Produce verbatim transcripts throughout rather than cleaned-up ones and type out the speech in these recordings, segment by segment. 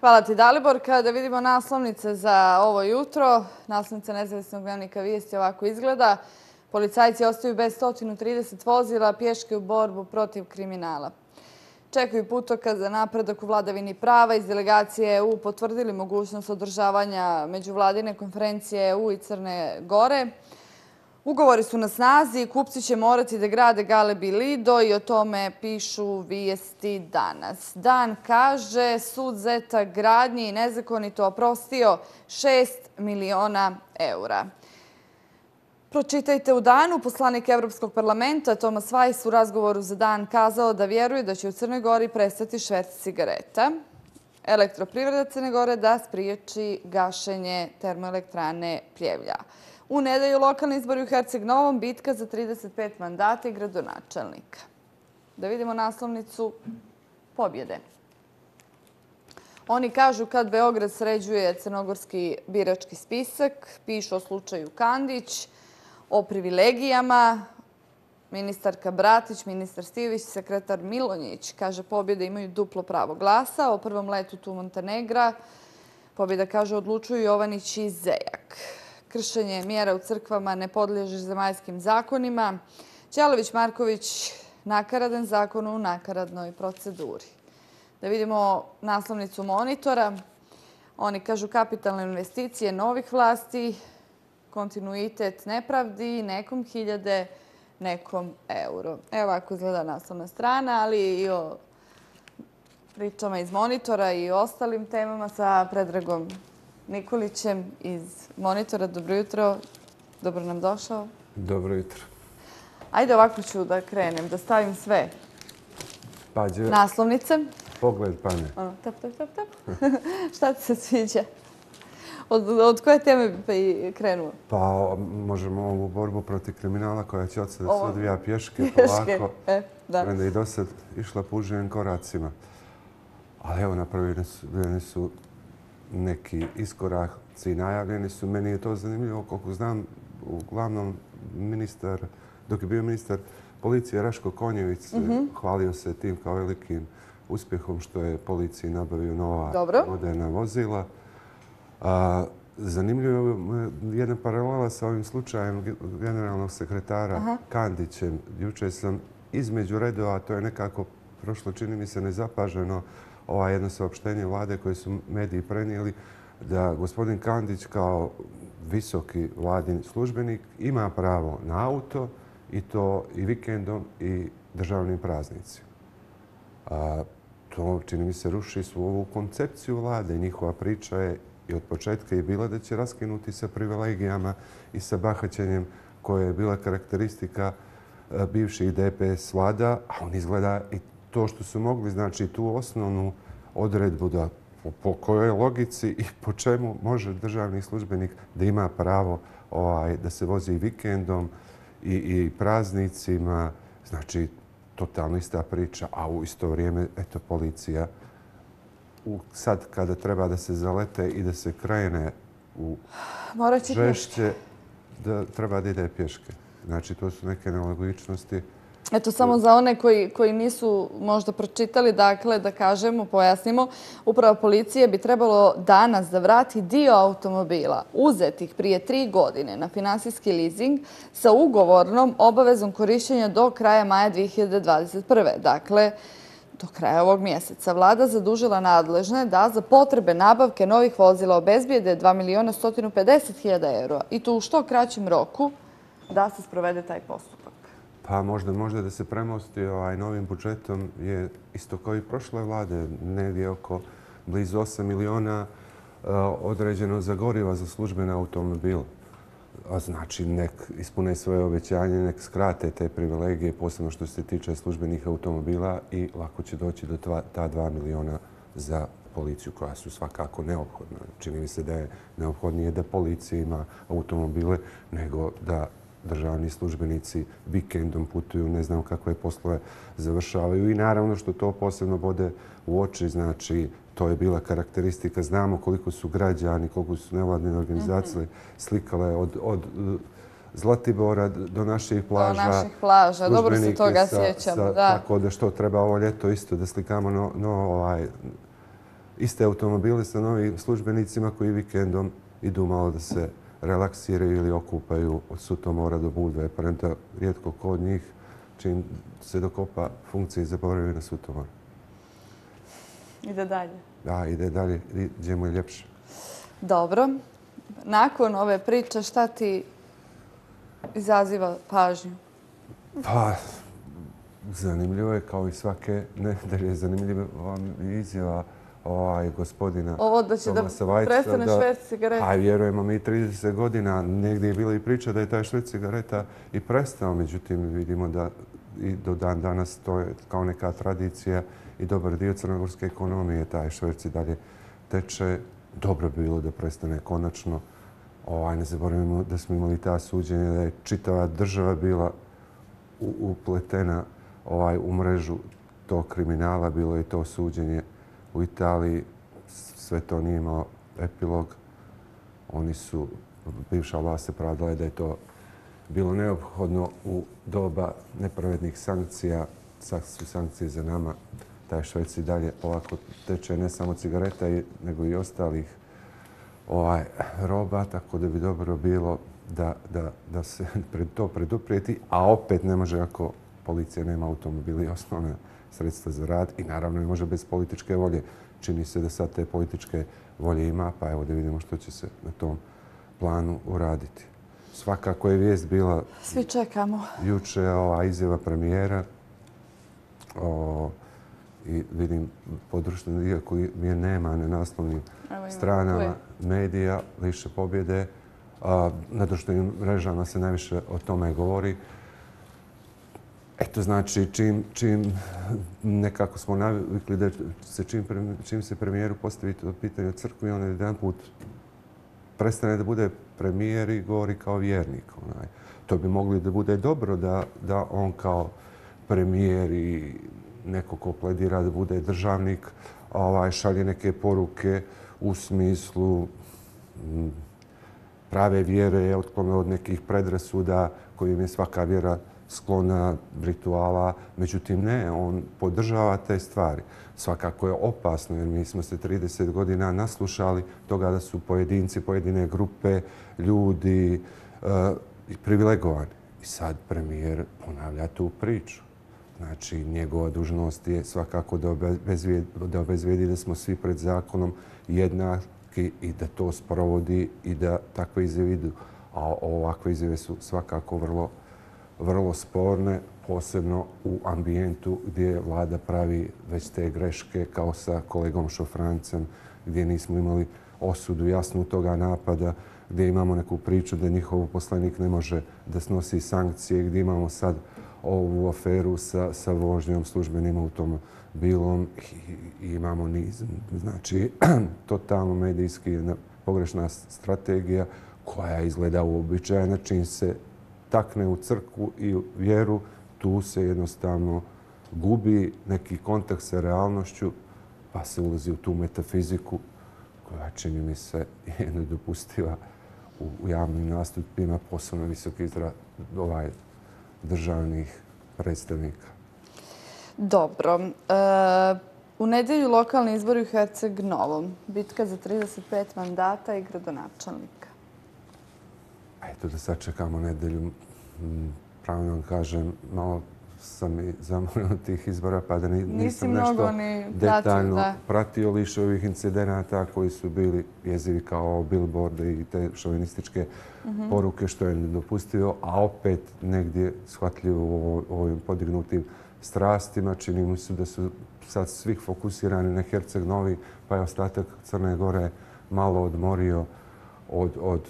Hvala ti, Dalibor. Kada vidimo naslovnice za ovo jutro, naslovnica Nezavisnog dnevnika Vijesti ovako izgleda. Policajci ostaju bez sto trideset vozila, pješke u borbu protiv kriminala. Čekaju putokaz za napredak u vladavini prava. Iz delegacije E U potvrdili mogućnost održavanja međuvladine konferencije E U i Crne Gore. Ugovori su na snazi, kupci će morati da grade Galeb i Lido i o tome pišu Vijesti danas. Dan kaže, sud Zeta gradnji nezakonito oprostio šest miliona eura. Pročitajte u Danu. Poslanik Evropskog parlamenta Tomas Vajs u razgovoru za Dan kazao da vjeruje da će u Crnoj Gori prestati šverc cigareta. Elektroprivreda Crne Gore da spriječi gašenje termoelektrane Pljevlja. U nedelju lokalni izbori u Herceg Novom, bitka za trideset pet mandata i gradonačelnika. Da vidimo naslovnicu pobjede. Oni kažu kad Beograd sređuje crnogorski birački spisak, pišu o slučaju Kandić, o privilegijama. Ministarka Bratić, ministar Stivić, sekretar Milonjić kaže pobjede imaju duplo pravo glasa. O prvom letu tu Montenegra pobjeda kaže odlučuju Jovanić i Zejak. Kršenje mjera u crkvama ne podliježe zemaljskim zakonima. Ćelević Marković, nakaradan zakon u nakaradnoj proceduri. Da vidimo naslovnicu Monitora. Oni kažu kapitalne investicije novih vlasti, kontinuitet nepravdi, nekom hiljade, nekom euro. Evo ovako izgleda naslovna strana, ali i o pričama iz Monitora i o ostalim temama sa Predragom Nikolićem iz Monitora. Dobro jutro. Dobro nam došao. Dobro jutro. Ajde ovako ću da krenem, da stavim sve naslovnice. Pogled pane. Tap, tap, tap, tap. Šta ti se sviđa? Od, od koje teme bi krenuo? Pa možemo ovu borbu protiv kriminala koja će od sada se odvija pješke, polako. E, da. Onda i do sad išla puživim koracima. Ali evo, napravljeni su neki iskoraci, najavljeni su. Meni je to zanimljivo, koliko znam, uglavnom ministar, dok je bio ministar policije Raško Konjević, mm-hmm. hvalio se tim kao velikim uspjehom što je policiji nabavio nova Dobro. moderna vozila. A, zanimljivo je jedna paralela sa ovim slučajem generalnog sekretara Aha. Kandićem. Juče sam između redova, to je nekako prošlo, čini mi se, nezapaženo, ovo jedno saopštenje vlade koje su mediji prenijeli, da gospodin Kandić kao visoki vladin službenik ima pravo na auto i to i vikendom i državnim praznicima. A, to, čini mi se, ruši svu ovu koncepciju vlade. Njihova priča je i od početka je bila da će raskinuti sa privilegijama i sa bahaćenjem koje je bila karakteristika bivših D P S vlada, a on izgleda i to što su mogli, znači tu osnovnu odredbu da po kojoj logici i po čemu može državni službenik da ima pravo ovaj, da se vozi i vikendom i, i praznicima. Znači, totalno ista priča, a u isto vrijeme, eto, policija u, sad kada treba da se zalete i da se krene u žešće, da treba da ide pješke. Znači, to su neke nelogičnosti. Eto, samo za one koji, koji nisu možda pročitali, dakle, da kažemo, pojasnimo, upravo policije bi trebalo danas da vrati dio automobila uzetih prije tri godine na finansijski leasing sa ugovornom obavezom korišćenja do kraja maja dvije hiljade dvadeset prve. Dakle, do kraja ovog mjeseca. Vlada zadužila nadležne da za potrebe nabavke novih vozila obezbijede dva miliona sto pedeset hiljada eura i to u što kraćem roku da se sprovede taj postupak. Pa možda, možda da se premosti ovaj novim budžetom je isto kao i prošle vlade, negdje oko blizu osam miliona uh, određeno za goriva za službene automobile. A znači, nek ispune svoje obećanje, nek skrate te privilegije, posebno što se tiče službenih automobila i lako će doći do tva, ta dva miliona za policiju koja su svakako neophodna. Čini mi se da je neophodnije da policija ima automobile nego da državni službenici vikendom putuju, ne znam kakve poslove završavaju. I naravno što to posebno bode u oči, znači to je bila karakteristika. Znamo koliko su građani, koliko su nevladine organizacije slikale od, od Zlatibora do naših plaža. Do naših plaža, dobro se toga sjećamo. Da. Tako da što treba ovo ljeto isto da slikamo no, no, ovaj, iste automobile sa novim službenicima koji vikendom idu malo da se relaksiraju ili okupaju od Sutomora do Budve. Premda rijetko ko od njih čim se dokopa funkcije zaboravio na Sutomor. Ide dalje. Da, ide dalje, gdje mu je ljepše. Dobro. Nakon ove priče, šta ti izaziva pažnju? Pa, zanimljivo je, kao i svake nedelje, zanimljiva izjava ovaj, gospodina Ovo da će da Tomasa Vajca. prestane šverc cigareta. A vjerujemo mi trideset godina, negdje je bila i priča da je taj šverc cigareta i prestao. Međutim, vidimo da i do dan danas to je kao neka tradicija i dobar dio crnogorske ekonomije. Taj šverc i dalje teče. Dobro bi bilo da prestane konačno. Ovaj, ne zaboravimo da smo imali ta suđenja, da je čitava država bila upletena ovaj, u mrežu tog kriminala. Bilo je to suđenje u Italiji. Sve to nije imalo epilog. Oni su, bivša vlast se pravdala da je to bilo neophodno u doba nepravednih sankcija. Sad su sankcije za nama. Taj šverc i dalje polako teče ne samo cigareta, nego i ostalih ovaj, roba, tako da bi dobro bilo da, da, da se pred to preduprijeti, a opet ne može ako policija nema automobili i osnovne sredstva za rad i naravno ne može bez političke volje. Čini se da sad te političke volje ima, pa evo da vidimo što će se na tom planu uraditi. Svakako je vijest bila... Svi čekamo. Juče ova izjava premijera o, i vidim područni dio koji je nema na naslovnim stranama medija, više pobjede. A, na društvenim mrežama se najviše o tome govori. Eto, znači, čim, čim nekako smo navikli da se čim, čim se premijeru postavi to pitanje o crkvi, on jedan put prestane da bude premijer i govori kao vjernik. Onaj. To bi mogli da bude dobro da, da on kao premijer i neko ko pledira da bude državnik ovaj, šalje neke poruke u smislu m, prave vjere, otklone od nekih predrasuda kojim je svaka vjera sklona rituala. Međutim, ne, on podržava te stvari. Svakako je opasno jer mi smo se trideset godina naslušali toga da su pojedinci, pojedine grupe, ljudi uh, privilegovani. I sad premijer ponavlja tu priču. Znači, njegova dužnost je svakako da obezvijedi da, obezvijedi da smo svi pred zakonom jednaki i da to sprovodi i da takve izjave idu. A ovakve izjave su svakako vrlo, vrlo sporne, posebno u ambijentu gdje vlada pravi već te greške kao sa kolegom Šofrancem, gdje nismo imali osudu jasnu toga napada, gdje imamo neku priču da njihov poslanik ne može da snosi sankcije, gdje imamo sad ovu aferu sa, sa vožnjom službenim automobilom i, i imamo niz. Znači, totalno medijski pogrešna strategija koja izgleda uobičajena. Čim se takne u crkvu i u vjeru, tu se jednostavno gubi neki kontakt sa realnošću, pa se ulazi u tu metafiziku koja, čini mi se, je nedopustiva u, u javnim nastupima, posebno visoki izraz ovaj, državnih predstavnika. Dobro. E, u nedjelju lokalni izbori u Herceg Novom. Bitka za trideset pet mandata i gradonačelnika. Eto da sačekamo nedjelju. Pravno vam kažem, malo sam i zamolio tih izbora, pa da ni, nisam nešto ni detaljno da. pratio liše ovih incidenata koji su bili jezivi kao billboarde i te šovinističke mm-hmm. poruke, što je nedopustivo, a opet negdje shvatljivo u ovim podignutim strastima. Čini mi se da su sad svih fokusirani na Herceg Novi, pa je ostatak Crne Gore malo odmorio od, od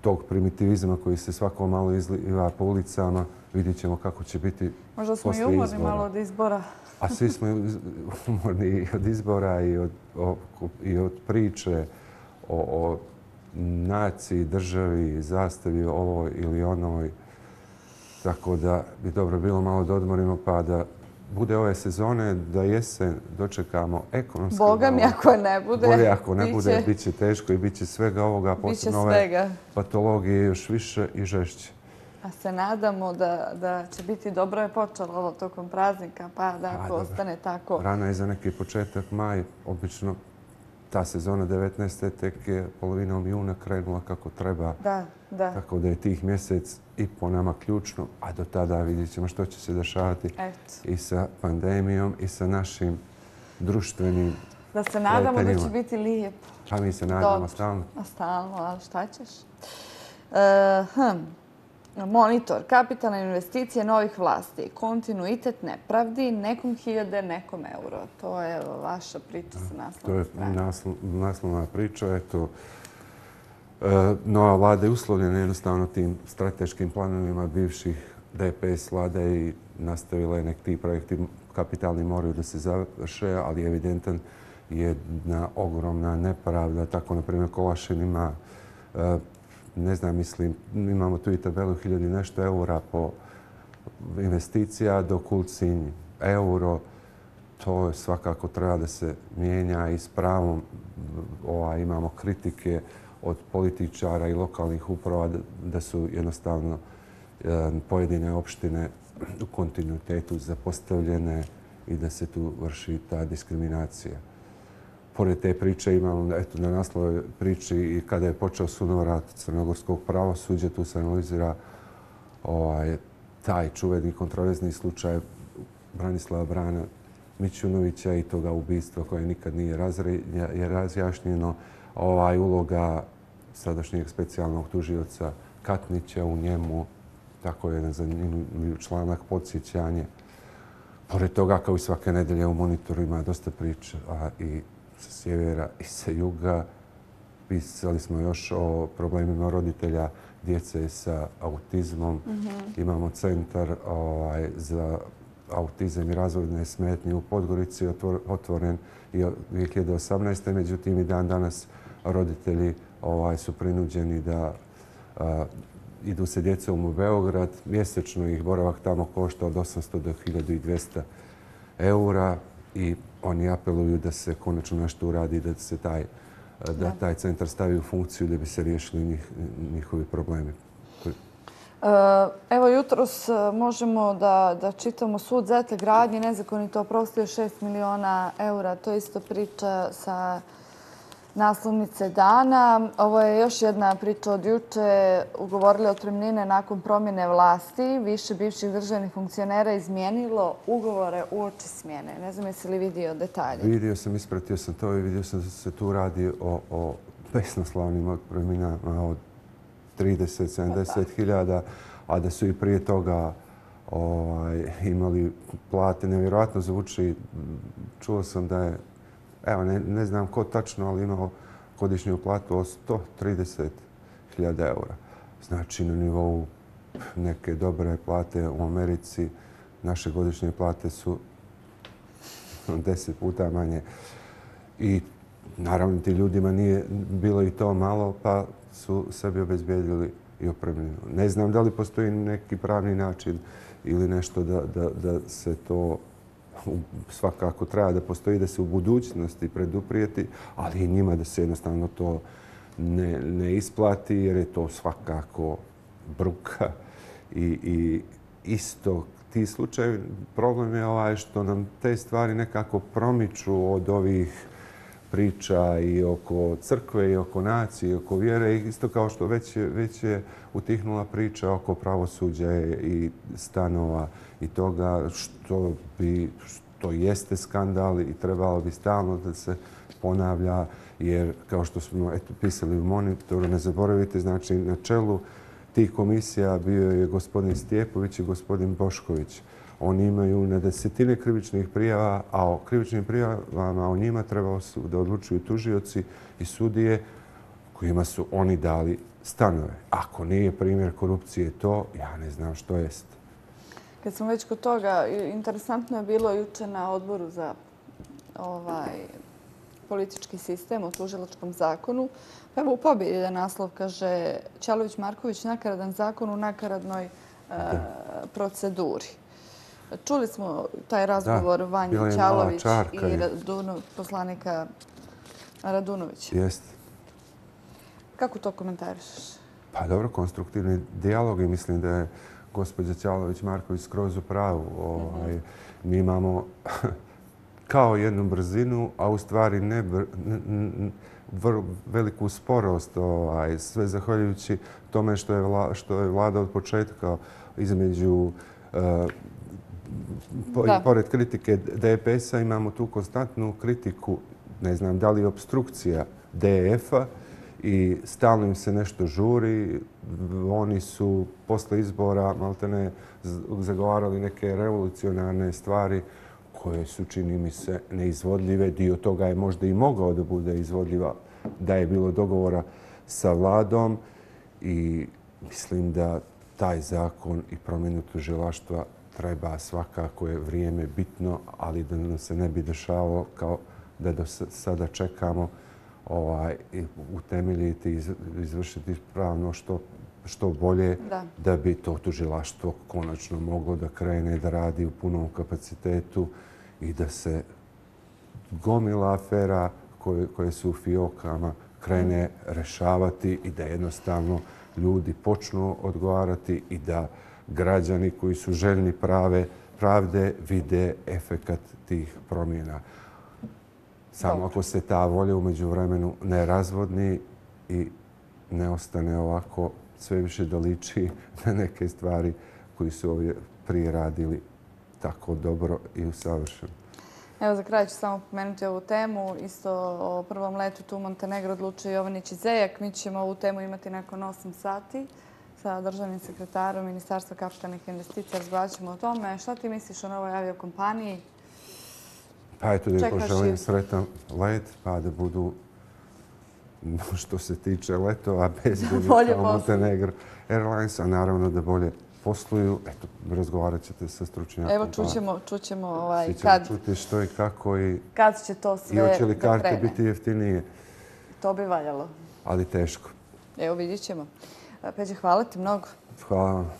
tog primitivizma koji se svako malo izliva po ulicama. Vidjet ćemo kako će biti možda smo posle i umorni izbora. malo od izbora. A svi smo umorni i od izbora i od, o, i od priče o, o naciji, državi, zastavi ovoj ili onoj. Tako da bi dobro bilo malo da odmorimo pa da bude ove sezone, da jesen dočekamo ekonomski. Boga mi ako ne bude. Bolje ako ne bude, bit će teško i bit će svega ovoga, posebno ove patologije još više i žešće. A se nadamo da, da će biti dobro je počelo ovo tokom praznika, pa da ako ostane tako... Rano je za neki početak maj, obično ta sezona devetnaeste tek je polovinom juna krenula kako treba. Da, da. Tako da je tih mjesec i po nama ključno, a do tada vidjet ćemo što će se dešavati i sa pandemijom i sa našim društvenim Da se nadamo da će biti lijepo. A mi se nadamo stalno. A stalno, ali šta ćeš? Monitor, kapitalne investicije novih vlasti, kontinuitet nepravdi, nekom hiljade, nekom euro. To je vaša priča sa naslovnom stranom. To je naslovna priča. Eto, nova vlada je uslovljena jednostavno tim strateškim planovima bivših D P S vlade i nastavila je nek ti projekti kapitalni moraju da se završe, ali evidentan jedna ogromna nepravda. Tako, na primjer, Kolašin ima, ne znam, mislim, imamo tu i tabelu hiljadu i nešto eura po investicija, dok Ulcinj euro. To svakako treba da se mijenja i s pravom imamo kritike od političara i lokalnih uprava da su jednostavno pojedine opštine u kontinuitetu zapostavljene i da se tu vrši ta diskriminacija. Pored te priče imamo, eto, na naslovoj priči i kada je počeo sunovrat crnogorskog pravosuđa, tu se analizira taj čuveni kontroverzni slučaj Branislava Brana Mićunovića i toga ubistva koje nikad nije razjašnjeno. Ovaj uloga sadašnjeg specijalnog tužioca Katnića u njemu, tako jedan zanimljiv članak, podsjećanje. Pored toga, kao i svake nedelje u Monitoru ima dosta priča i sa sjevera i sa juga. Pisali smo još o problemima roditelja djece sa autizmom. Imamo centar za autizam i razvojne smetnje u Podgorici, otvoren i dvije hiljade osamnaeste. Međutim, i dan danas roditelji su prinuđeni da idu se djecom u Beograd. Mjesečno ih boravak tamo košta od osamsto do hiljadu dvjesto eura i oni apeluju da se konačno nešto uradi, da se taj, da taj centar stavi u funkciju da bi se riješili njihovi problemi. Evo, jutros možemo da, da čitamo sud Zete gradnje, nezakonito oprostio šest miliona eura. To je isto priča sa naslovnice dana. Ovo je još jedna priča od juče. Ugovorili otpremnine nakon promjene vlasti. Više bivših državnih funkcionera izmijenilo ugovore uoči smjene. Ne znam jesi li vidio detalje? Vidio sam, ispratio sam to i vidio sam da se tu radi o, o besnoslavnim otpremninama od trideset do sedamdeset hiljada, a da su i prije toga ovaj, imali plate. Nevjerojatno zvuči. Čuo sam da je, evo, ne, ne znam ko tačno, ali imao godišnju platu od sto trideset hiljada eura. Znači, na nivou neke dobre plate u Americi naše godišnje plate su deset puta manje. I naravno ti ljudima nije bilo i to malo, pa su sebi obezbijedili i opremljeno. Ne znam da li postoji neki pravni način ili nešto da, da, da se to svakako treba da postoji, da se u budućnosti preduprijeti, ali i njima da se jednostavno to ne, ne isplati jer je to svakako bruka i, i isto ti slučajevi. Problem je ovaj što nam te stvari nekako promiču od ovih priča i oko crkve i oko nacije i oko vjere. Isto kao što već je, već je utihnula priča oko pravosuđa i stanova i toga što bi, što jeste skandal i trebalo bi stalno da se ponavlja jer kao što smo eto, pisali u Monitoru, ne zaboravite, znači na čelu tih komisija bio je gospodin Stjepović i gospodin Bošković. Oni imaju na desetine krivičnih prijava, a o krivičnim prijavama o njima trebalo su da odlučuju tužioci i sudije kojima su oni dali stanove. Ako nije primjer korupcije to, ja ne znam što jest. Kad smo već kod toga, interesantno je bilo juče na odboru za ovaj politički sistem u tužilačkom zakonu. Pa evo u pobjedi da naslov kaže Ćalović-Marković nakaradan zakon u nakaradnoj e, proceduri. Čuli smo taj razgovor Vanja Ćalović i Radunu, poslanika Radunovića. Jeste. Kako to komentarišeš? Pa dobro, konstruktivni dijalog i mislim da je gospođa Ćalović-Marković skroz u pravu. Ovaj, mi imamo kao jednu brzinu, a u stvari ne br- n- n- vrlo veliku sporost, ovaj, sve zahvaljujući tome što je, vla, što je vlada od početka između eh, po- Da. pored kritike D P S-a imamo tu konstantnu kritiku, ne znam da li je obstrukcija D F-a i stalno im se nešto žuri. Oni su posle izbora maltene z- zagovarali neke revolucionarne stvari koje su, čini mi se, neizvodljive. Dio toga je možda i mogao da bude izvodljiva da je bilo dogovora sa vladom i mislim da taj zakon i promjenu tužilaštva treba, svakako je vrijeme bitno, ali da nam se ne bi dešavalo kao da do s- sada čekamo ovaj, i utemeljiti i iz- izvršiti pravno što, što bolje Da. da bi to tužilaštvo konačno moglo da krene da radi u punom kapacitetu i da se gomila afera koje, koje su u fiokama krene rešavati i da jednostavno ljudi počnu odgovarati i da građani koji su željni prave pravde vide efekat tih promjena. Samo Dobro. ako se ta volja u međuvremenu ne razvodni i ne ostane ovako sve više da liči na neke stvari koji su ovdje prije radili tako dobro i usavršeno. Evo, za kraj ću samo pomenuti ovu temu. Isto o prvom letu tu u Montenegro odlučio Jovanić i Zejak. Mi ćemo ovu temu imati nakon osam sati sa državnim sekretarom Ministarstva kapitalnih investicija. Razgovarat ćemo o tome. Šta ti misliš o novoj aviokompaniji? Pa eto da im Čekaš poželim i- sretan let, pa da budu što se tiče letova bezbedni bolje kao posluju. Montenegro Airlines, a naravno da bolje posluju. Eto, razgovarat ćete sa stručnjakom. Evo, čućemo, čućemo ovaj, Svi ćemo kad, čuti što i kako i, kad će to i sve hoće li da karte krene. biti jeftinije, To bi valjalo. ali teško. Evo, vidit ćemo. Peđe, hvala ti mnogo. Hvala vam.